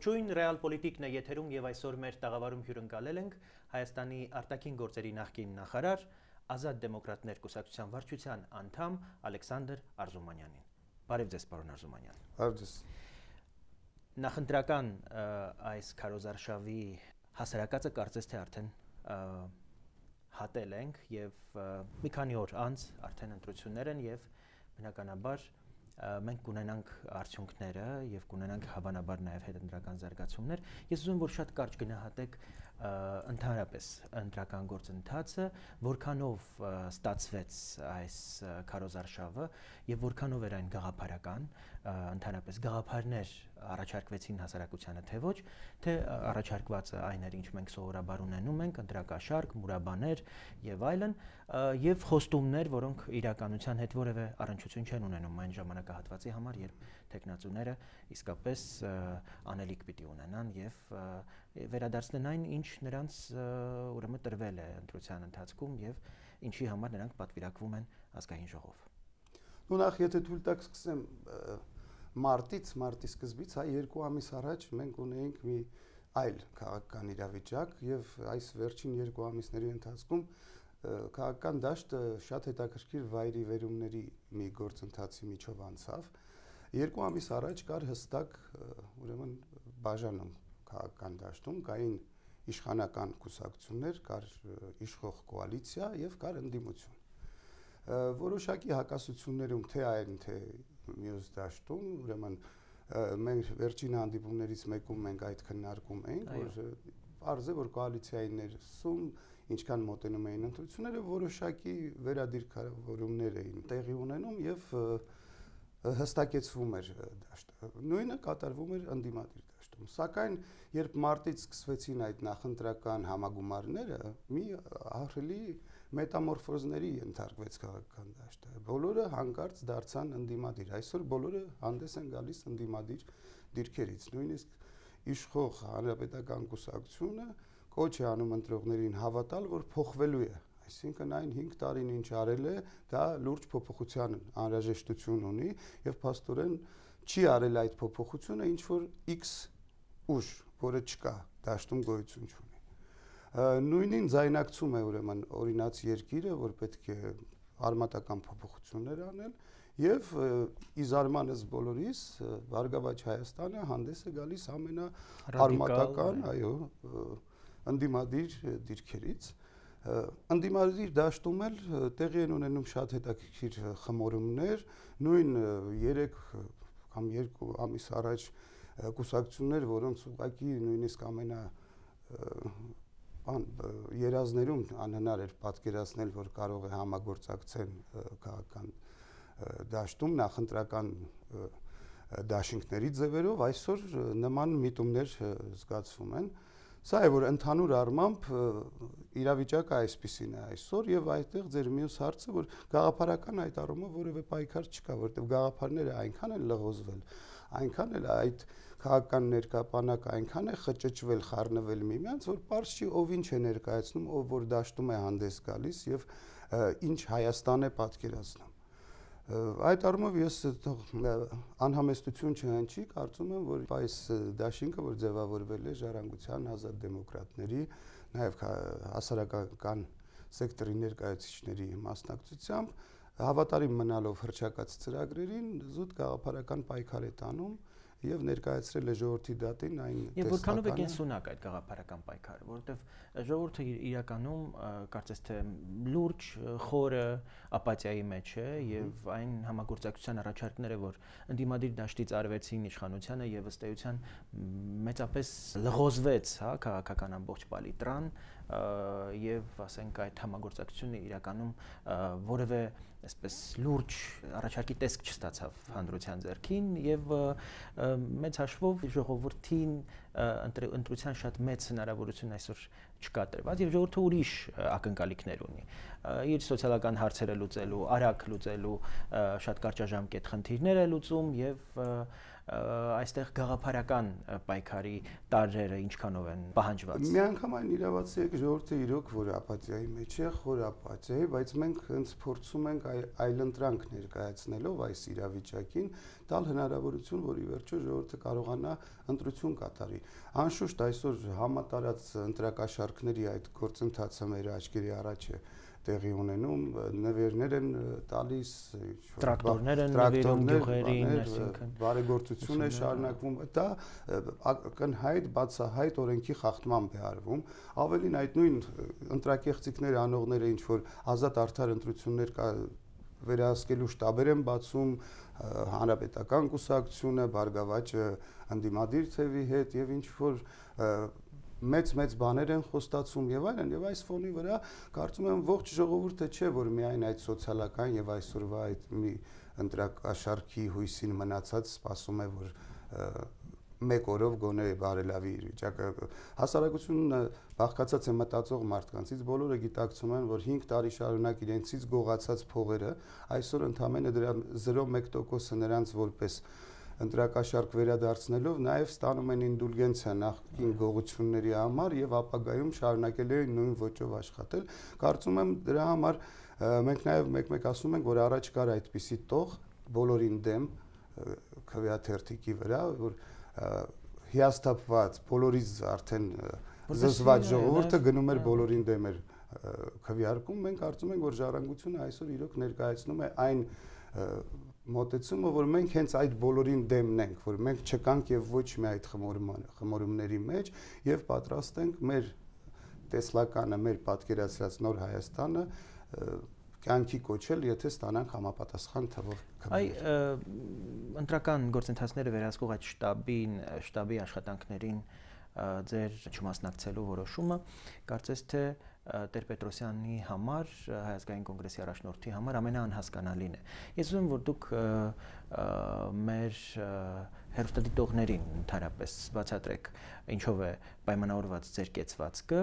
Ողջույն, Ռեալպոլիտիկն է եթերում եւ այսօր մեր տաղավարում հյուրընկալել ենք Հայաստանի արտաքին գործերի նախկին նախարար, Ազատ դեմոկրատներ կուսակցության վարչության անդամ Ալեքսանդր Արզումանյանին։ Բարև ձեզ, պարոն Արզումանյան։ Բարև ձեզ։ Նախընտրական այս քարոզարշավի հասարակածը կարծես թե արդեն հատել ենք եւ մի քանի օր անց արդեն ընտրություններ են եւ բնականաբար մենք կունենանք արդյունքները եւ կունենանք հավանաբար նաեւ հետընտրական զարգացումներ։ Ես ուզում եմ որ շատ կարճ գնահատեք ընդհանրապես ընտրական գործընթացը, որքանով ստացվեց այս քարոզարշավը եւ որքանով էր այն գաղափարական, ընդհանրապես գաղափարներ առաջարկվեցին հասարակությանը թե ոչ, թե առաջարկվածը այն էր, ինչ մենք սովորաբար ունենում ենք, ընտրակաշարք, մուրաբաներ եւ այլն, եւ խոստումներ, որոնք իրականության հետ որևէ առնչություն չեն ունենում այն ժամանակահատվածի համար, երբ տեխնացուները իսկապես անելիք պիտի ունենան եւ վերադարձնեն այն, ինչ նրանց ուրեմն տրվել է ընտրության ընթացքում եւ ինչի համար նրանք պատվիրակվում են ազգային ժողով։ Ու նախ եթե թույլ տաք սկսեմ մարտի սկզբից, հայ 2 ամիս առաջ մենք ունեինք մի այլ քաղաքական իրավիճակ եւ այս վերջին 2 ամիսների ընթացքում քաղաքական դաշտը շատ հետաքրքիր վայրի վերումների մի գործընթացի միջով անցավ։ 2 ամիս առաջ կար հստակ ուրեմն բաժանում քաղաքական դաշտում, կային իշխանական կուսակցություններ, կար իշխող կոալիցիա եւ կար ընդդիմություն։ Որոշակի հակասություններում թե այն թե մյուս դաշտում, ուրեմն մենք վերջին հանդիպումներից մեկում մենք այդ քննարկում էինք, որ արժե որ կոալիցիայի ներսում ինչքան մոտենում էին ընտրությունները, որոշակի վերադիրքավորումներ էին տեղի ունենում եւ հստակեցվում էր դաշտը։ Նույնը կատարվում էր ընդդիմադիր դաշտում։ Սակայն երբ մարտից սկսվեցին այդ նախընտրական համագումարները, մի ահռելի մետամորֆոզների ենթարկվեց քաղաքական դաշտը։ Բոլորը հանկարծ դարձան ընդդիմադիր։ Այսօր բոլորը հանդես են գալիս ընդդիմադիր դիրքերից։ Նույնիսկ իշխող հանրապետական կուսակցությունը կոչ է անում ընտրողներին հավատալ, որ փոխվելու է։ Այսինքն այն 5 տարին ինչ արել է, դա լուրջ փոփոխության անհրաժեշտություն ունի եւ փաստորեն չի արել այդ փոփոխությունը, ինչ որ X ուժ, որը չկա, դաշտում գոյություն չունի։ Նույնին ձայնակցում է ուրեմն օրինաց երկիրը, որ պետք է արմատական փոփոխություններ անել եւ իզարմանս բոլորիս Բարգավաճ Հայաստանը հանդես է գալիս ամենաարմատական, այո, ընդդիմադիր դիրքերից։ Ընդդիմադիր դաշտում էլ տեղի են ունենում շատ հետաքրքիր խմորումներ, նույն 3 կամ 2 ամիս առաջ կուսակցություններ, որոնց ուղղակի նույնիսկ երազներում անհնար էր պատկերացնել, որ կարող է համագործակցեն քաղաքական դաշտում նախընտրական դաշինքների ձևերով, այսօր նման միտումներ զգացվում են։ Սա է որ ընդհանուր առմամբ իրավիճակը այսպիսին է այսօր եւ այդտեղ ձեր մյուս հարցը որ գաղափարական այդ առումով որևէ պայքար չկա, որտեղ գաղափարները այնքան են լղոզվել, այնքան էլ այդ քաղաքական ներկայապանակը այնքան է խճճվել, խառնվել միմյանց, որ պարզ չի ով ինչ է ներկայացնում, ով որ դաշտում է հանդես գալիս եւ ինչ Հայաստան է պատկերացնում։ Այդ առումով ես անհամեստություն չհնչի, կարծում եմ, որ այս դաշինքը, որ ձևավորվել է Ժառանգության ազատ դեմոկրատների, նաև հասարակական սեկտորի ներկայացուցիչների մասնակցությամբ, հավատարիմ մնալով հռչակած ծրագրերին, զուտ գաղափարական պայքար է տանում եւ ներկայացրել է ժողովրդի դատին այն տեսականը։ Եվ որքանով է կենսունակ այդ գաղափարական պայքարը, որովհետեւ ժողովուրդը իրականում կարծես թե լուրջ խորը ապաթիայի մեջ է եւ այն համագործակցության առաջարկները, որ ընդդիմադիր դաշտից արվեցին իշխանությանը եւ ըստ էության մեծապես լղոզվեց, հա, քաղաքական ամբողջ պալիտրան եւ ասենք այդ համագործակցությունը իրականում որևէ այսպես լուրջ առաջարկի տեսք չստացավ հանրության ձեռքին եւ մեծ հաշվով ժողովրդին ընտրության շատ մեծ հնարավորություն այսօր չկա տրված եւ ժողովուրդը ուրիշ ակնկալիքներ ունի իր սոցիալական հարցերը լուծելու, արագ լուծելու, շատ կարճաժամկետ խնդիրներ է լուծում եւ այստեղ գաղափարական պայքարի տարրերը ինչքանով են պահանջված։ Միանգամայն իրավացի է ժողովուրդը իրոք որ ապաթիայի մեջ է, խոր ապաթիայի, բայց մենք հենց փորձում ենք այլընտրանք ներկայացնելով այս իրավիճակին տալ հնարավորություն, որ ի վերջո ժողովուրդը կարողանա ընտրություն կատարի։ Անշուշտ այսօր համատարած ընտրակաշառքների այդ գործընթացը մեր աչքերի առաջ է տեղի ունենում, նվերներ են տալիս, տրակտորներ են նվիրում գյուղերին, այսինքն բարեգործություն է շարունակվում, դա ակնհայտ բացահայտ օրենքի խախտմամբ է արվում, ավելին այդ նույն ընտրակեղծիքներ անողները ինչ որ ազատ արդար ընտրություններ վերահսկելու շտաբեր են բացում, հանրապետական կուսակցությունը, Բարգավաճը ընդդիմադիր թևի հետ եւ ինչ որ մեծ բաներ են խոստացում եւ այլն եւ այս ֆոնի վրա կարծում եմ ողջ ժողովուրդը չէ որ միայն այդ սոցիալական եւ այսօրվա այդ մի ընտրակաշառքի հույսին մնացած սպասում է որ մեկ օրով գոնե բարելավի իր վիճակը հասարակությունը բաղկացած է մտածող մարդկանցից բոլորը գիտակցում են որ 5 տարի շարունակ իրենցից գողացած փողերը այսօր ընդամենը դրա 0.1%-ը նրանց որպես ընտրակաշառք վերադարձնելով նաև ստանում են ինդուլգենցիա նախկին գողությունների համար եւ ապագայում շարունակել են նույն ոճով աշխատել կարծում եմ դրա համար մենք նաև մեկ-մեկ ասում ենք որ առաջ կար այդպիսի տող բոլորին դեմ քվեաթերթիկի վրա որ հիասթափված բոլորից արդեն զզված ժողովուրդը գնում էր բոլորին դեմ էր քվեարկում մենք կարծում ենք որ ժառանգությունը այսօր իրոք ներկայացնում է այն մոտեցումը որ մենք հենց այդ բոլորին դեմն ենք որ մենք չկանք եւ ոչ մի այդ խմորումների մեջ եւ պատրաստ ենք մեր տեսլականը մեր պատկերացրած նոր Հայաստանը կյանքի կոչել եթե ստանանք համապատասխան թվով քվեներ ընտրական գործընթացները վերահսկող այդ շտաբի աշխատանքներին ձեր չմասնակցելու որոշումը կարծես թե Տեր-Պետրոսյանի համար Հայ ազգային կոնգրեսի առաջնորդի համար ամենաանհասկանալին է։ Ես ուզում եմ որ դուք մեր հերոստատիտողներին ընդհանրապես բացատրեք ինչով է պայմանավորված ձեր կեցվածքը,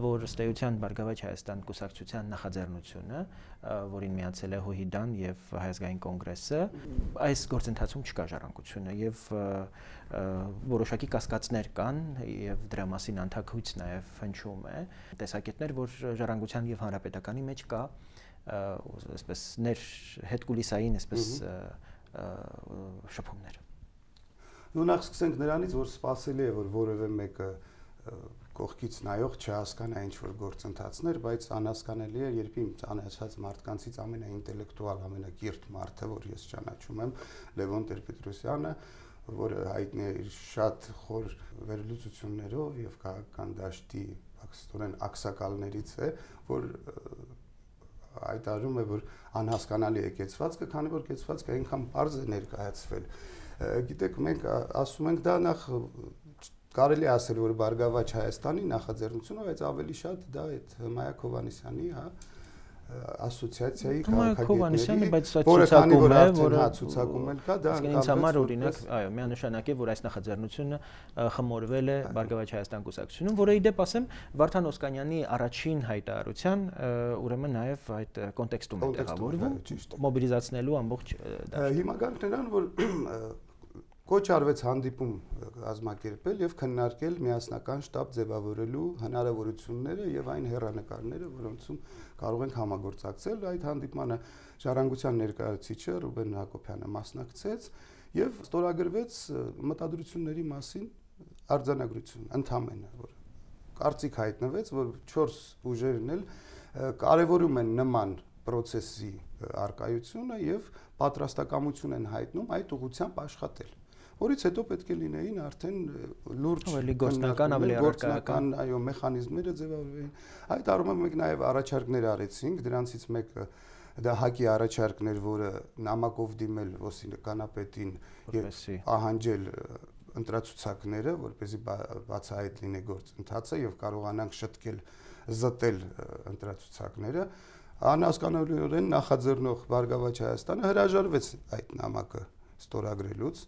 որ ըստ էության Բարգավաճ Հայաստան կուսակցության նախաձեռնությունը, որին միացել է ՀՅԴ-ն եւ Հայ ազգային կոնգրեսը, այս գործընթացում չկա ժառանգությունը եւ որոշակի կասկածներ կան եւ դրա մասին անթակույց նաեւ հնչում է տեսակետներ որ ժառանգության եւ հանրապետականի մեջ կա այսպես հետկուլիսային այսպես շփումներ նու նախ սկսենք նրանից որ սпасելի է որ որևէ մեկը կողքից նայող չհասկանա ինչ որ գործընթացներ բայց անհասկանալի է երբ իմ ծանոթացած մարդկանցից ամենաինտելեկտուալ ամենակիրթ մարդը որ ես ճանաչում եմ Լևոն Տեր-Պետրոսյանը որը հայտնի է իր շատ խոր վերլուծություններով եւ քաղաքական դաշտի ակստորեն ակսակալներից է որ հայտարարում է որ անհասկանալի է կեցվածքը քանի որ կեցվածքը այնքան բարձ է ներկայացվել գիտեք մենք ասում ենք դա նախ կարելի ասել որ Բարգավաճ Հայաստանի նախաձեռնությունը բայց ավելի շատ դա այդ Մայակ Հովհաննիսյանի ասոցիացիայի քաղաքագետների բայց ցուցակում է որը ցուցակում էլ կա դա ինձ համար օրինակ այո միանշանակ է որ այս նախաձեռնությունը խմորվել է Բարգավաճ Հայաստան կուսակցությունում որը իդեպ ասեմ Վարդան Օսկանյանի առաջին հայտարարության ուրեմն նաև այդ կոնտեքստում է տեղավորվում մոբիլիզացնելու ամբողջ հիմա գանք նրան որ կոչ արվեց հանդիպում կազմակերպել եւ քննարկել միասնական շտաբ ձևավորելու հնարավորությունները եւ այն հեռանկարները, որոնցում կարող ենք համագործակցել։ Այդ հանդիպմանը ժառանգության ներկայացուցիչը Ռուբեն Հակոբյանը մասնակցեց եւ ստորագրվեց մտադրությունների մասին արձանագրություն ընդհանրապես, որ կարծիք հայտնվեց, որ 4 ուժերն էլ կարևորում են նման process-ի արկայությունը եւ պատրաստակամություն են հայտնում այդ ուղղությամբ աշխատել։ Որից հետո պետք է լինեին արդեն լուրջ գործնական ավելի առարկայական այո մեխանիզմները ձևավորվեին այդ առումով մենք նաև առաջարկներ արեցինք դրանցից մեկը դա ՀԱԿ-ի առաջարկներ որը նամակով դիմել ոստիկանապետին եւ ահանջել ընտրացուցակները որպեսզի բացահայտ լինի գործընթացը եւ կարողանանք շտկել զտել ընտրացուցակները անհասկանալիորեն նախաձեռնող Բարգավաճ Հայաստանը հրաժարվեց այդ նամակը ստորագրելուց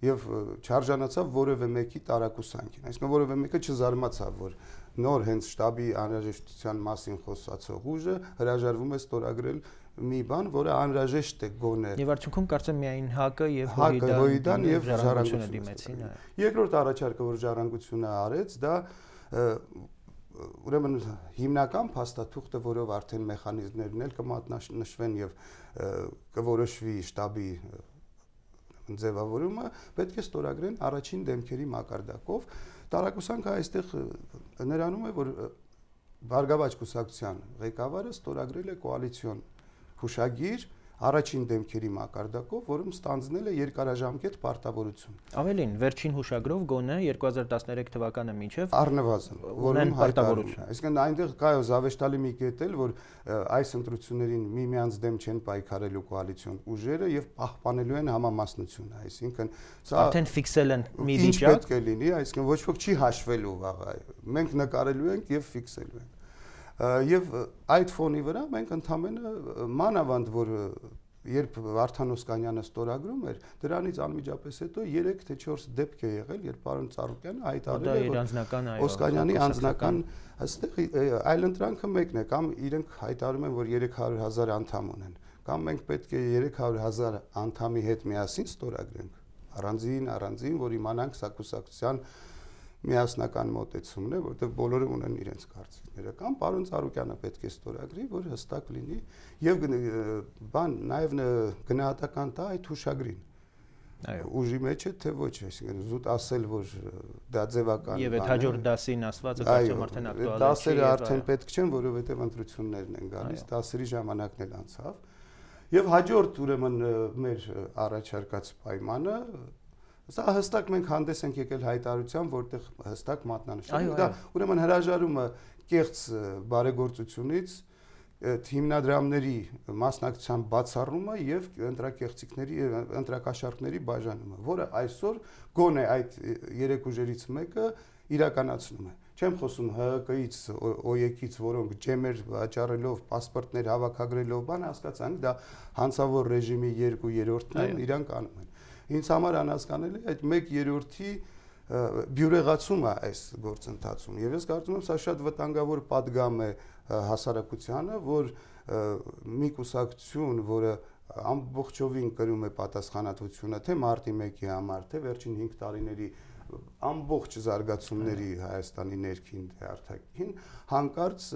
եւ չարժանացավ որևէ մեկի տարակուսանքին։ Այսինքն որևէ մեկը չզարմացավ, որ նոր հենց շտաբի անհրաժեշտության մասին խոսացող ուժը հրաժարվում է ստորագրել մի բան, որը անհրաժեշտ է գոնե։ Եվ արդյունքում կարծեմ միայն ՀԱԿ-ը եւ Հույդան եւ ժառանգությունը դիմեցին։ Երկրորդ առաջարկը, որ ժառանգությունը արեց, դա ուրեմն հիմնական փաստաթուղթը, որով արդեն մեխանիզմներն էլ կմատնանշվեն եւ կորոշվի շտաբի ձևավորումը, պետք է ստորագրեն առաջին դեմքերի մակարդակով։ Տարակուսանքը այստեղ նրանում է, որ Բարգավաճ կուսակցության ղեկավարը ստորագրել է կոալիցիոն հուշագիր առաջին դեմքերի մակարդակով, որում ստանձնել է երկարաժամկետ պարտավորություն։ Ավելին, վերջին հուշագրով գոնե 2013 թվականը մինչև առնվազն, որում պարտավորություն։ Այսինքն այնտեղ կա զավեշտալի մի կետ էլ, որ այս ընտրություններին միմյանց դեմ չեն պայքարելու կոալիցիոն ուժերը եւ պահպանելու են համամասնությունը, այսինքն սա արդեն ֆիքսել են մի վիճակ։ Ինչ պետք է լինի, այսինքն ոչ ոք չի հաշվելու վաղը։ Մենք նկարելու ենք եւ ֆիքսելու ենք։ Եվ այդ ֆոնի վրա մենք ընդհանրապես մանավանդ որ երբ Վարդան Օսկանյանը ստորագրում էր, դրանից անմիջապես հետո 3 թե 4 դեպք է եղել, երբ պարոն Ծառուկյանը հայտարարել է, որ Օսկանյանի անձնական այստեղ այլընտրանքը մեկն է, կամ իրենք հայտարարում են, որ 300,000 անդամ ունեն, կամ մենք պետք է 300,000 անդամի հետ միասին ստորագրենք, առանձին, որ իմանանք սա կուսակցության միասնական մոտեցումն է, որտեղ բոլորը ունեն իրենց կարծիքները, կամ պարոն Ծառուկյանը պետք է ստորագրի, որ հստակ լինի եւ նաեւ գնահատական տա այդ հուշագրին։ Այո, ուժի մեջ է թե ոչ, այսինքն զուտ ասել, որ դա ձևական եւ այդ հաջորդ դասին ասվածը կարծեմ արդեն ակտուալ է։ Դասերը արդեն պետք չեն, որովհետեւ ընտրություններն են գալիս, դասերի ժամանակն էլ անցավ։ Եվ հաջորդ ուրեմն մեր առաջարկած պայմանը սա հստակ մենք հանդես ենք եկել հայտարարությամբ, որտեղ հստակ մատնանշել։ Դա ուրեմն հրաժարումը կեղծ բարեգործությունից, հիմնադրամների մասնակցության բացառումը եւ ընտրակաշառքների բաժանումը, որը այսօր գոնե այդ երեք ուժերից մեկը իրականացնում է։ Չեմ խոսում ՀԿ-ից, ՕԵԿ-ից, որոնք ջեմեր վաճառելով, պասպորտներ հավաքագրելով, բան հասկացանք, դա հանցավոր ռեժիմի 2/3-ն են, իրանք անում են։ Ինձ համար անհասկանալի է այդ 1/3-ի բյուրեղացումը այս գործընթացում։ Եվ ես կարծում եմ, սա շատ վտանգավոր պատգամ է հասարակությանը, որ մի կուսակցություն, որը ամբողջովին կրում է պատասխանատվությունը թե մարտի 1-ի համար, թե վերջին 5 տարիների ամբողջ զարգացումների Հայաստանի ներքին թե արտաքին, հանկարծ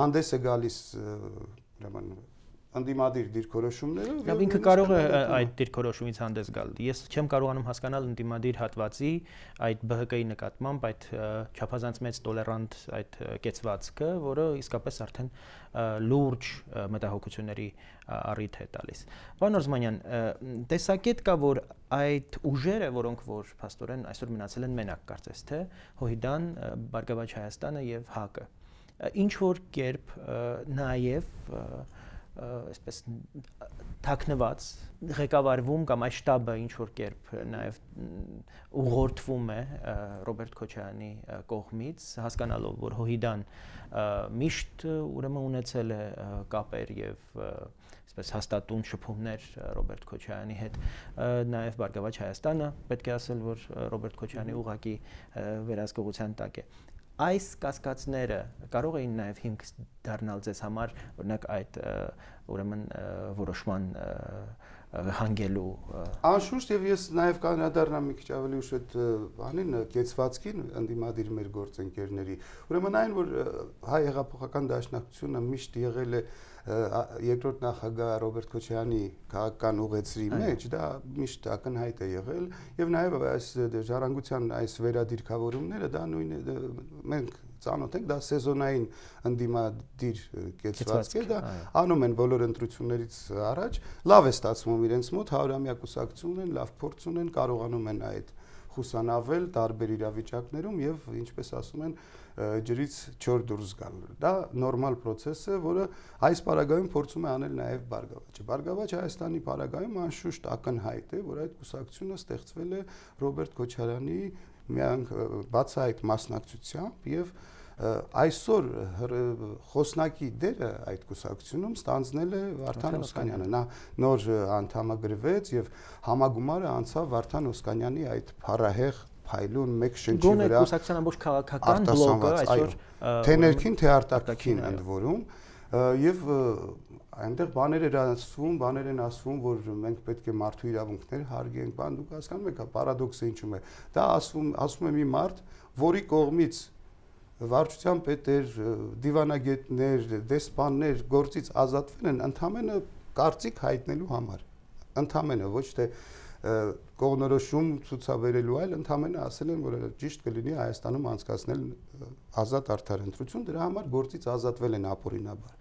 հանդես է գալիս ուրեմն ընդդիմադիր դիրքորոշումներով։ Եվ ինքը կարող է այդ դիրքորոշումից հանդես գալ։ Ես չեմ կարողանում հասկանալ ընդդիմադիր հատվածի այդ ԲՀԿ-ի նկատմամբ այդ չափազանց մեծ տոլերանտ այդ կեցվածքը, որը իսկապես արդեն լուրջ մտահոգությունների առիթ է տալիս։ Պարոն Օրզմանյան, տեսակետ կա, որ այդ ուժերը, որոնք որ փաստորեն այսօր մնացել են մենակ, կարծես թե Հույդան, Բարգավաճ Հայաստանը եւ ՀԱԿ-ը, ինչ որ կերպ նաեւ այսպես թաքնված ղեկավարվում կամ այս շտաբը ինչ որ կերպ նաև ուղղորդվում է Ռոբերտ Քոչարյանի կողմից, հասկանալով, որ Հույդան միշտ ուրեմն ունեցել է կապեր եւ այսպես հաստատուն շփումներ Ռոբերտ Քոչարյանի հետ, նաև Բարգավաճ Հայաստանը պետք է ասել, որ Ռոբերտ Քոչարյանի ուղղակի վերահսկողության տակ է։ Այս կասկածները կարող էին նաև հիմք դառնալ ձեզ համար, օրինակ այդ ուրեմն որոշման հանգելու։ Անշուշտ, եւ ես նաև կանադառնամ մի քիչ ավելի ուշ այդ բանին, կեցվածքին ընդդիմադիր մեր գործընկերների։ Ուրեմն այն, որ հայ հեղափոխական դաշնակցությունը միշտ եղել է երկրորդ նախագահ Ռոբերտ Քոչարյանի քաղաքական ուղեցրի մեջ, դա միշտ ակնհայտ է եղել եւ նաեւ այս ժառանգության այս վերադիրքավորումները դա նույնը մենք ծանոթ ենք, դա սեզոնային ընդդիմադիր կեցվածք է, դա անում են բոլոր ընտրություններից առաջ, լավ է ստացվում իրենց մոտ, 100-ամյա կուսակցություն ունեն, լավ փորձ ունեն, կարողանում են այդ խուսանավել տարբեր իրավիճակներում եւ ինչպես ասում են ջրից չոր դուրս գալ։ Դա նորմալ process է, որը այս պարագայում փորձում է անել նաև Բարգավաճը։ Բարգավաճ Հայաստանի պարագայում անշուշտ ակնհայտ է, որ այդ կուսակցությունը ստեղծվել է Ռոբերտ Քոչարյանի բացահայտ մասնակցությամբ եւ այսօր խոսնակի դերը այդ կուսակցությունում ստանձնել է Վարդան Օսկանյանը։ Նա նոր անդամագրվեց եւ համագումարը անցավ Վարդան Օսկանյանի այդ փառահեղ փայլուն մեկ շնչի վրա։ Գոնե կուսակցության ամբողջ քաղաքական բլոկը այսօր թե ներքին թե արտաքին ընդ որում եւ այնտեղ բաներ են ասվում, որ մենք պետք է մարդու իրավունքներ հարգենք, բան դուք հասկանում եք, պարադոքսը ինչու՞մ է։ Դա ասում է մի մարդ, որի կողմից վարչության պետեր, դիվանագետներ, դեսպաններ գործից ազատվել են ընդամենը կարծիք հայտնելու համար։ Ընդամենը ոչ թե կողմնորոշում ցուցաբերելու, այլ ընդամենը ասել են, որ ճիշտ կլինի Հայաստանում անցկացնել ազատ արդար ընտրություն, դրա համար գործից ազատվել են ապօրինաբար։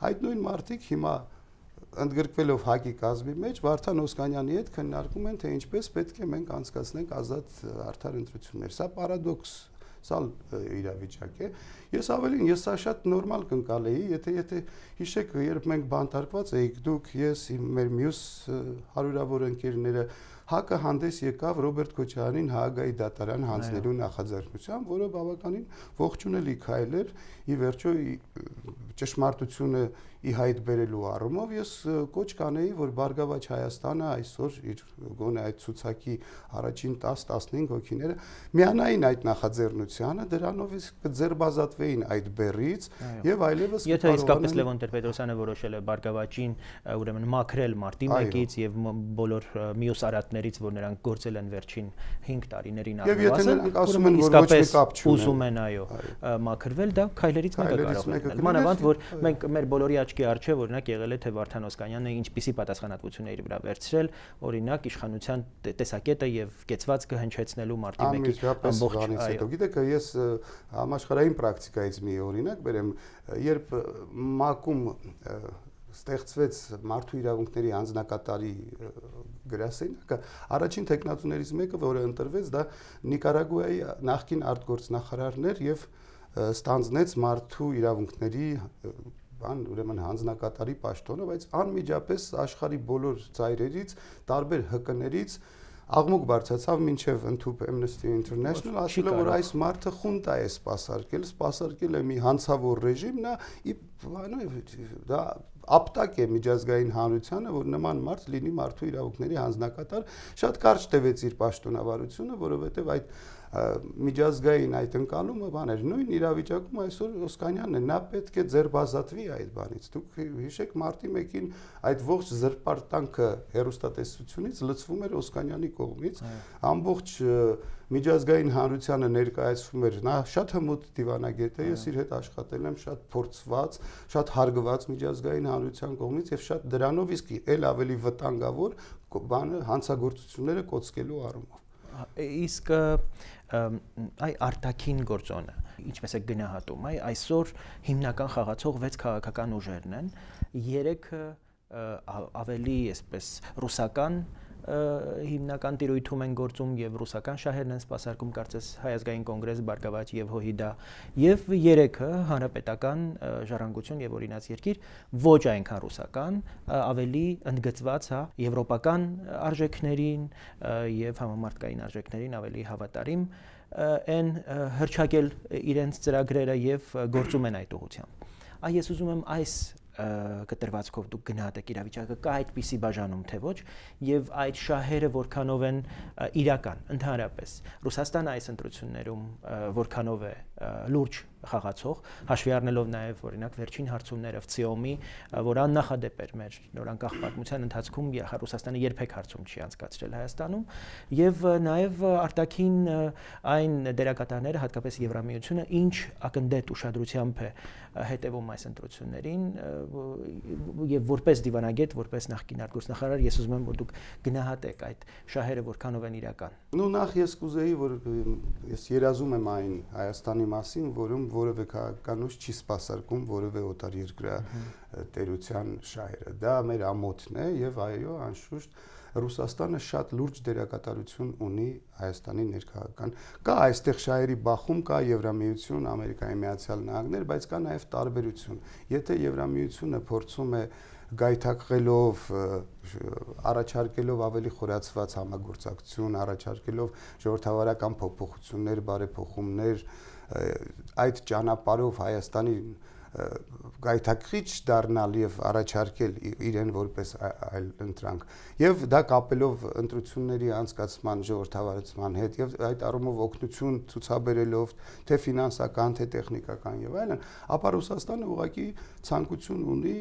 Այդ նույն մարդիկ հիմա ընդգրկվելով ՀԱԿ-ի կազմի մեջ Վարդան Օսկանյանի հետ քննարկում են, թե ինչպես պետք է մենք անցկացնենք ազատ արդար ընտրություններ։ Սա պարադոքսալ իրավիճակ է։ Ես սա շատ նորմալ կընկալեի, եթե հիշեք, երբ մենք բանտարկված էինք, դուք, ես, մեր մյուս հարյուրավոր ընկերները, ՀԱԿ-ը հանդես եկավ Ռոբերտ Քոչարյանին Հաագայի դատարան հանձնելու նախաձեռնությամբ, որը բավականին ողջունելի քայլ էր, ի վերջո ճշմարտությունը ի հայտ բերելու առումով ես կոչ կանեի, որ Բարգավաճ Հայաստանը այսօր իր գոնե այդ ցուցակի առաջին 10-15 հոգիները միանային այդ նախաձեռնությանը, դրանով կձերբազատվեին այդ բեռից եւ այլևս եթե իսկապես Լևոն Տեր-Պետրոսյանը որոշել է Բարգավաճին ուրեմն մաքրել մարտի 1-ից եւ բոլոր մյուս արատներից, որ նրանք գործել են վերջին 5 տարիներին առնվազն, ուրեմն իսկապես ուզում են մաքրվել, դա քայլերից մեկը կարող է լինել։ Մանավանդ որ մենք մեր բոլորի աչքի առջև օրինակ եղել է թե Վարդան Օսկանյանը ինչպիսի պատասխանատվություն է իր վրա վերցրել, օրինակ իշխանության տեսակետը եւ կեցվածքը հնչեցնելու մարտի 1-ի ամբողջ այո։ Գիտեք, ես համաշխարհային պրակտիկայից մի օրինակ բերեմ, երբ ՄԱԿ-ում ստեղծվեց մարդու իրավունքների անձնակատարի գրասենյակը, առաջին տեխնատուներից մեկը, որը ընտրվեց, դա Նիկարագուայի նախկին արտգործնախարարն էր եւ ստանձնեց մարդու իրավունքների ուրեմն հանձնակատարի պաշտոնը, բայց անմիջապես աշխարհի բոլոր ծայրերից, տարբեր ՀԿ-ներից աղմուկ բարձրացավ մինչև ընդհուպ Amnesty International, ասելով որ այս մարդը խունտա է սպասարկել է մի հանցավոր ռեժիմ, դա ապտակ է միջազգային հանրությանը, որ նման մարդ լինի մարդու իրավունքների հանձնակատար, շատ կարճ տևեց իր պաշտոնավարությունը, որովհետև այդ միջազգային այդ ընկալումը բաներ նույն իրավիճակում այսօր Օսկանյանն է, նա պետք է ձերբազատվի այդ բանից։ Դուք հիշեք մարտի 1-ին այդ ողջ զրպարտանքը հերոստատեսությունից լցվում էր Օսկանյանի կողմից, ամբողջ միջազգային հանրությանը ներկայացվում էր, նա շատ հմուտ դիվանագետ է, ես իր հետ աշխատել եմ, շատ փորձված, շատ հարգված միջազգային հանրության կողմից եւ շատ դրանով իսկ էլ ավելի վտանգավոր բանը հանցագործությունները կոծկելու առումով։ Իսկ այ արտաքին գործոնը ինչպես է գնահատում, այսօր հիմնական խաղացող 6 քաղաքական ուժերն են, 3-ը ավելի այսպես ռուսական հիմնական տիրույթում են գործում եւ ռուսական շահերն են սպասարկում կարծես Հայ ազգային կոնգրես, Բարգավաճ եւ ՀՅԴ եւ 3-ը հանրապետական ժառանգություն եւ օրինաց երկիր ոչ այնքան ռուսական, ավելի ընդգծված եվրոպական արժեքներին եւ համամարտկային արժեքներին ավելի հավատարիմ են հրճակել իրենց ծրագրերը եւ գործում են այդ ուղղությամբ։ Ես ուզում եմ այս կտրվածքով դուք գնահատեք իրավիճակը, կա այդպիսի բաժանում թե ոչ եւ այդ շահերը որքանով են իրական ընդհանրապես Ռուսաստանը այս ընտրություններում որքանով է լուրջ խաղացող, հաշվի առնելով նաև օրինակ վերջին հարցումները ՎՑԻՕՄ-ի, որ աննախադեպ էր մեր նորանկախ պատմության ընթացքում Ռուսաստանը երբեք հարցում չի անցկացրել Հայաստանում եւ նաև արտաքին այն դերակատարները, հատկապես Եվրամիությունը, ինչ ակնդետ ուշադրությամբ է հետևում այս ընտրություններին եւ որպես դիվանագետ, որպես նախկին արտգործնախարար, ես ուզում եմ որ դուք գնահատեք այդ շահերը որքանով են իրական։ Նախ ես կուզեի, որ ես երազում եմ այն Հայաստանի մասին, որում որևէ քաղաքական ուժ չի սպասարկում որևէ օտարերկրյա տերության շահերը։ Դա մեր ամոթն է եւ այո, անշուշտ Ռուսաստանը շատ լուրջ դերակատարություն ունի Հայաստանի ներքաղաքական։ Կա այստեղ շահերի բախում, կա Եվրամիություն, Ամերիկայի Միացյալ Նահանգներ, բայց կա նաև տարբերություն։ Եթե Եվրամիությունը փորձում է գայթակղելով, առաջարկելով ավելի խորացված համագործակցություն, առաջարկելով ժողովրդավարական փոփոխություններ, բարեփոխումներ, այդ ճանապարհով Հայաստանի գայթակղիչ դառնալ եւ առաջարկել իրեն որպես այլ ընտրանք եւ դա կապելով ընտրությունների անցկացման ժողովրդավարության հետ եւ այդ առումով օգնություն ցուցաբերելով թե ֆինանսական թե տեխնիկական եւ այլն, ապա Ռուսաստանը ուղղակի ցանկություն ունի,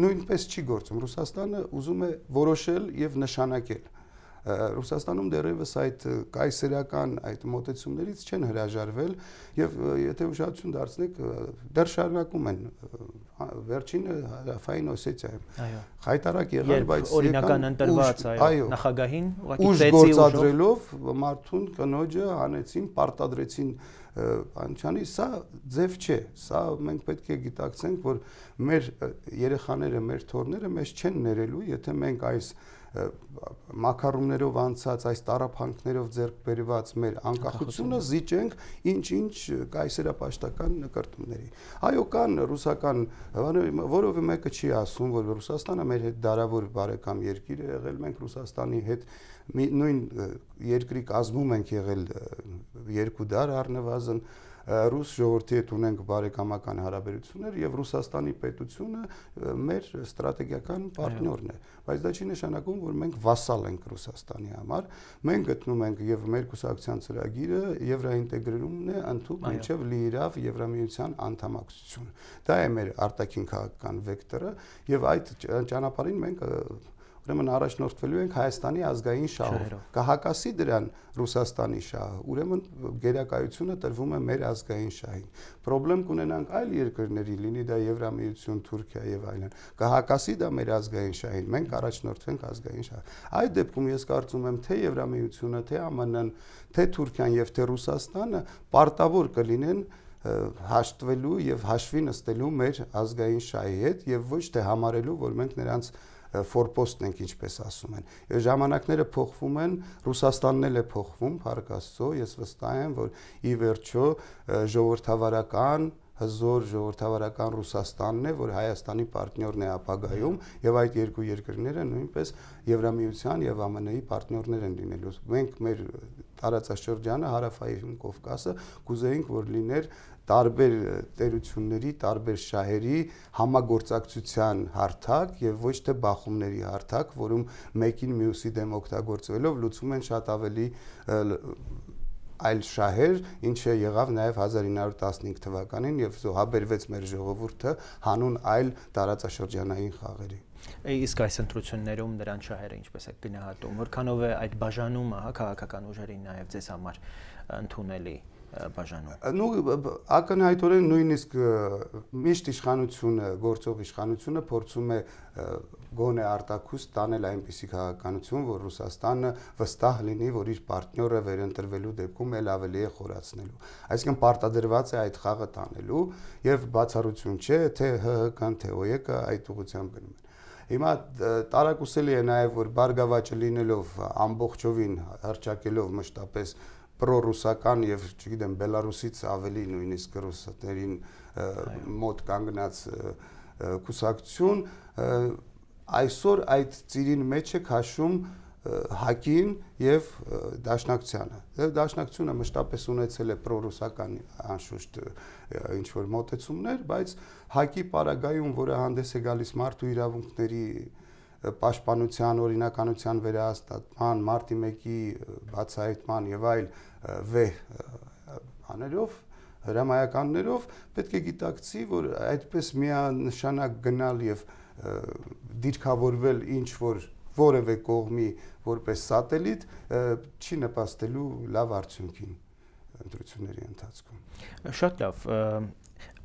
նույնպես չի գործում։ Ռուսաստանը ուզում է որոշել եւ նշանակել։ Ռուսաստանում դեռևս այդ կայսերական այդ մոտեցումներից չեն հրաժարվել եւ եթե ուշադրություն դարձնեք դեռ շարունակում են վերջինը Հարավային Օսեթիայում խայտարակ եղան, բայց օրինական ընտրված նախագահին ուղղակի ուժ գործադրելով մարդուն կնոջը հանեցին, պարտադրեցին անչանի, սա ձև չէ, սա մենք պետք է գիտակցենք, որ մեր երեխաները, մեր թոռները մեզ չեն ներելու, եթե մենք այս մակարոններով անցած այս տարափանքներով ձեռք բերված մեր անկախությունը զիջենք ինչ-ինչ կայսերապաշտական նկարտումների։ Այո, կան ռուսական, որովը մեկը չի ասում, որ Ռուսաստանը մեր հետ դարավոր բարեկամ երկիր է եղել, մենք Ռուսաստանի հետ նույն երկրի կազմում ենք եղել 2 դար առնվազն, ռուս ժողովրդի հետ ունենք բարեկամական հարաբերություններ եւ Ռուսաստանի պետությունը մեր ստրատեգիական պարտներն է, բայց դա չի նշանակում, որ մենք վասալ ենք Ռուսաստանի համար, մենք գտնում ենք եւ մեր կուսակցության ծրագիրը եվրոինտեգրումն է ընդհանուր մինչեւ լիիրավ Եվրամիության անդամակցություն։ Դա է մեր արտաքին քաղաքական վեկտորը եւ այդ ճանապարհին մենք ուրեմն առաջնորդվելու ենք Հայաստանի ազգային շահով։ Կհակասի դրան Ռուսաստանի շահը, ուրեմն գերակայությունը տրվում է մեր ազգային շահին։ Պրոբլեմ կունենանք այլ երկրների, լինի դա Եվրամիություն, Թուրքիա եւ այլն։ Կհակասի դա մեր ազգային շահին, մենք առաջնորդվենք ազգային շահ։ Այդ դեպքում ես կարծում եմ, թե Եվրամիությունը, թե ԱՄՆ-ն, թե Թուրքիան եւ թե Ռուսաստանը պարտավոր կլինեն հաշտվելու եւ հաշվի նստելու մեր ազգային շահի հետ եւ ոչ թե համարելու, որ մենք նրանց ֆորպոստն ենք, ինչպես ասում են։ Ժամանակները փոխվում են, Ռուսաստանն էլ է փոխվում, փառք Աստծո, ես վստահ եմ, որ ի վերջո ժողովրդավարական հզոր ժողովրդավարական Ռուսաստանն է, որ Հայաստանի պարտներն է ապագայում եւ այդ երկու երկրները նույնպես Եվրամիության եւ ԱՄՆ-ի պարտներներ են լինելու։ Մենք մեր տարածաշրջանը Հարավային Կովկասը կուզեինք, որ լիներ տարբեր տերությունների, տարբեր շահերի համագործակցության հարթակ եւ ոչ թե բախումների հարթակ, որում մեկին մյուսի դեմ օգտագործվելով լուծում են շատ ավելի այլ շահեր, ինչը եղավ նաեւ 1915 թվականին եւ զոհաբերվեց մեր ժողովուրդը հանուն այլ տարածաշրջանային խաղերի։ Իսկ այս ընտրություններում նրանց շահերը ինչպես է գնահատում, որքանով է այդ բաժանումը քաղաքական ուժերի նաեւ ձեզ համար ընդունելի բաժանում։ Ակնհայտորեն նույնիսկ միշտ իշխանությունը, գործող իշխանությունը փորձում է գոնե արտաքուստ տանել այնպիսի քաղաքականություն, որ Ռուսաստանը վստահ լինի, որ իր պարտները վերընտրվելու դեպքում էլ ավելի է խորացնելու։ Այսինքն պարտադրված է այդ խաղը տանելու եւ բացառություն չէ, թե ՀՀԿ-ն, թե ՕԵԿ-ը այդ ուղղությամբ գնում են։ Հիմա տարակուսելի է նաեւ, որ Բարգավաճը լինելով ամբողջովին հռչակելով մշտապես պրոռուսական եւ չգիտեմ Բելարուսից ավելի նույնիսկ ռուսներին մոտ կանգնած կուսակցություն այսօր այդ ծիրին մեջ է քաշում ՀԱԿ-ին եւ Դաշնակցությանը։ Դաշնակցությունը մշտապես ունեցել է պրոռուսական անշուշտ ինչ որ մոտեցումներ, բայց ՀԱԿ-ի պարագայում, որը հանդես է գալիս մարդու իրավունքների պաշտպանության, օրինականության վերահաստատման, մարտի 1-ի բացահայտման եւ այլ վեհ բաներով, հրամայականներով պետք է գիտակցի, որ այդպես միանշանակ գնալ եւ դիրքավորվել ինչ որ որևէ կողմի որպես սատելիտ չի նպաստելու լավ արդյունքին ընտրությունների ընթացքում։ Շատ լավ։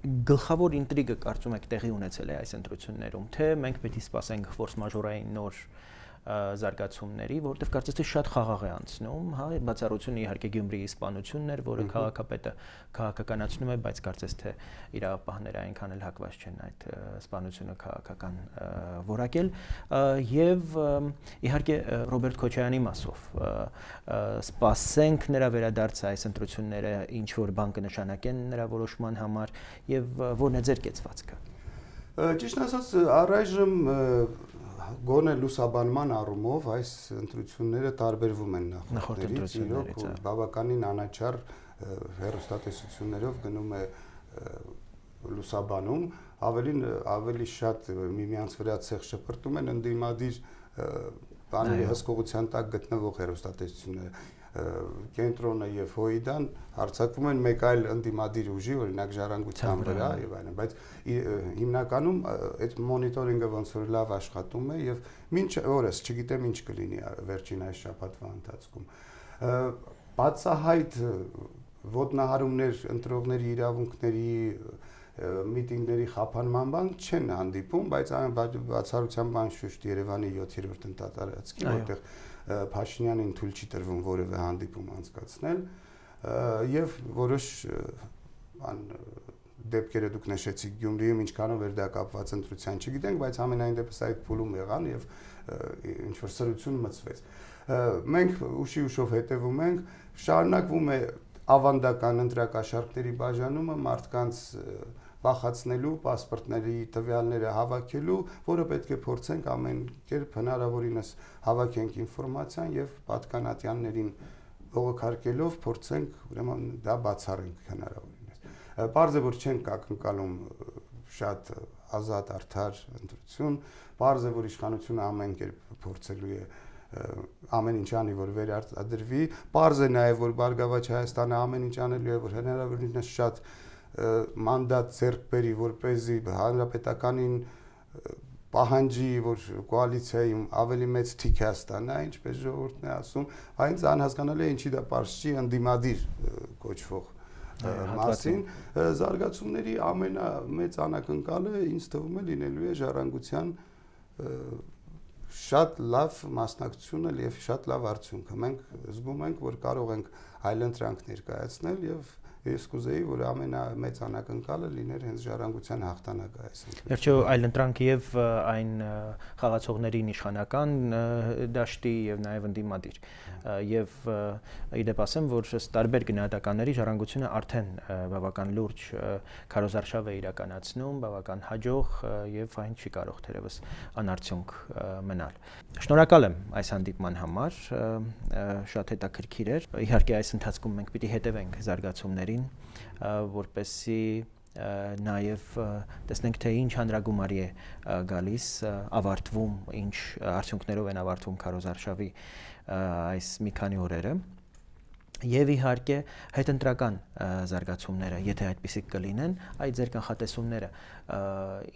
Գլխավոր ինտրիգը կարծում եք տեղի ունեցել է այս ընտրություններում, թե մենք պետք է սպասենք ֆորս մաժորային նոր զարգացումների, որտեղ կարծես թե շատ խաղաղ է անցնում, հա, բացառությունը իհարկե Գյումրիի սպանությունն էր, որը քաղաքապետը քաղաքականացնում է, բայց կարծես թե իրավապահները այնքան էլ հակված չեն այդ սպանությունը քաղաքական որակել, եւ իհարկե Ռոբերտ Քոչարյանի մասով սպասենք նրա վերադարձը այս ընտրությունները ինչ որ բան կնշանակեն նրա որոշման համար եւ որն է ձեր կեցվածքը։ Ճիշտ ասած, առայժմ գոնե լուսաբանման առումով այս ընտրությունները տարբերվում են նախորդներից, իրոք բավականին անաչառ հեռուստատեսություններով գնում է լուսաբանում, ավելի շատ միմյանց վրա ցեղ շպրտում են ընդդիմադիր բաների հսկողության տակ գտնվող հեռուստատեսությունները, կենտրոնը եւ հոիդան հարձակվում են մեկ այլ ընդդիմադիր ուժի, օրինակ ժառանգության վրա եւ այլն, բայց հիմնականում այդ մոնիտորինգը ոնց որ լավ աշխատում է եւ մինչ օրս չգիտեմ ինչ կլինի վերջին այս շաբաթվա ընթացքում։ Բացահայտ ոտնահարումներ, ընտրողների իրավունքների, միտինգների խափանման բան չեն հանդիպում, բայց բացառությամբ անշուշտ Երևանի 7-րդ ընտատարածքի, որտեղ Փաշինյանին թույլ չի տրվում որևէ հանդիպում անցկացնել, եւ որոշ դեպքերը դուք նշեցիք Գյումրիում ինչքանով էր դա կապված ընտրության, չգիտենք, բայց ամենայն դեպս այդ փուլում եղան եւ ինչ որ սրություն մցվեց։ Մենք ուշով հետևում ենք, շարունակվում է ավանդական ընտրակաշառքների բաժանումը մարդկանց բախացնելու, պասպորտների տվյալները հավաքելու, որը պետք է փորձենք ամեն կերպ հնարավորինս հավաքենք ինֆորմացիան եւ պատկանատյաններին բողոքարկելով փորձենք ուրեմն դա բացառենք հնարավորինս։ Պարզ է, որ չենք ակնկալում շատ ազատ արդար ընտրություն, պարզ է, որ իշխանությունը ամեն կերպ փորձելու է ամեն ինչ անի, որ վերարտադրվի, պարզ է նաեւ, որ Բարգավաճ Հայաստանը ամեն ինչ անելու է, որ հնարավորինս շատ մանդատ ձեռք բերի, որպեսզի հանրապետականին պահանջի, որ կոալիցիայում ավելի մեծ թիք է ստանա, ինչպես ժողովուրդն է ասում, այնց անհասկանալի է ինչի դա պարզ չի ընդդիմադիր կոչվող մասին, զարգացումների ամենամեծ անակնկալը ինձ թվում է լինելու է ժառանգության շատ լավ մասնակցությունը եւ շատ լավ արդյունքը։ Մենք զգում ենք, որ կարող ենք այլընտրանք ներկայացնել եւ ես կուզեի, որ ամենամեծ անակնկալը լիներ հենց ժառանգության հաղթանակը այս ընտրությունում։ Վերջո այլընտրանք եւ այն խաղացողներին իշխանական դաշտի եւ նաեւ ընդդիմադիր եւ իդեպ ասեմ, որ ըստ տարբեր գնահատականների ժառանգությունը արդեն բավական լուրջ քարոզարշավ է իրականացնում, բավական հաջող եւ այն չի կարող թերևս անարդյունք մնալ։ Շնորհակալ եմ այս հանդիպման համար, շատ հետաքրքիր էր։ Իհարկե այս ընթացքում մենք պիտի հետևենք զարգացումներին, որպեսզի նաև տեսնենք թե ինչ հանրագումարի է գալիս, ավարտվում, ինչ արդյունքներով են ավարտվում քարոզարշավի այս մի քանի օրերը եւ իհարկե հետընտրական զարգացումները, եթե այդպիսիք կլինեն, այդ ձեր կանխատեսումները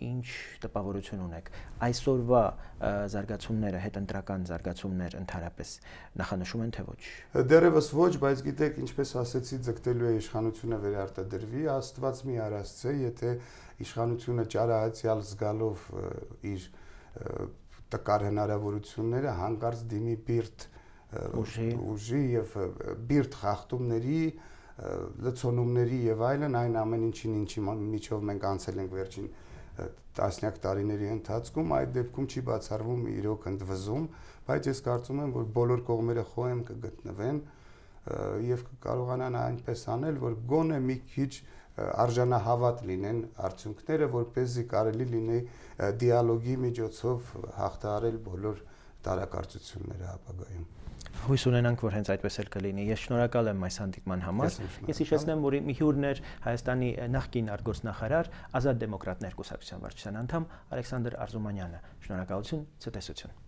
ինչ տպավորություն ունեք, այսօրվա զարգացումները, հետընտրական զարգացումներ ընդհանրապես նախանշում են թե ոչ։ Դեռևս ոչ, բայց գիտեք, ինչպես ասեցի, ձգտելու է իշխանությունը վերարտադրվի, Աստված մի արասցե, եթե իշխանությունը ճարահացյալ զգալով իր տկար հնարավորությունները հանկարծ դիմի բիրտ ուժի եւ բիրտ խախտումների, լցոնումների եւ այլն, այն ամեն ինչի միջով մենք անցել ենք վերջին տասնյակ տարիների ընթացքում, այդ դեպքում չի բացառվում իրոք ընդվզում, բայց ես կարծում եմ, որ բոլոր կողմերը խոհեմ կգտնվեն եւ կարողանան այնպես անել, որ գոնե մի քիչ արժանահավատ լինեն արդյունքները, որպեսզի կարելի լինի դիալոգի միջոցով հաղթահարել բոլոր տարակարծությունները ապագայում։ Հույս ունենանք, որ հենց այդպես էլ կլինի։ Ես շնորհակալ եմ այս հանդիպման համար։ Ես հիշեցնեմ, որ մի հյուրն էր Հայաստանի նախկին արտգործնախարար, Ազատ դեմոկրատներ կուսակցության վարչության անդամ Ալեքսանդր Արզումանյանը։ Շնորհակալություն, ցտեսություն։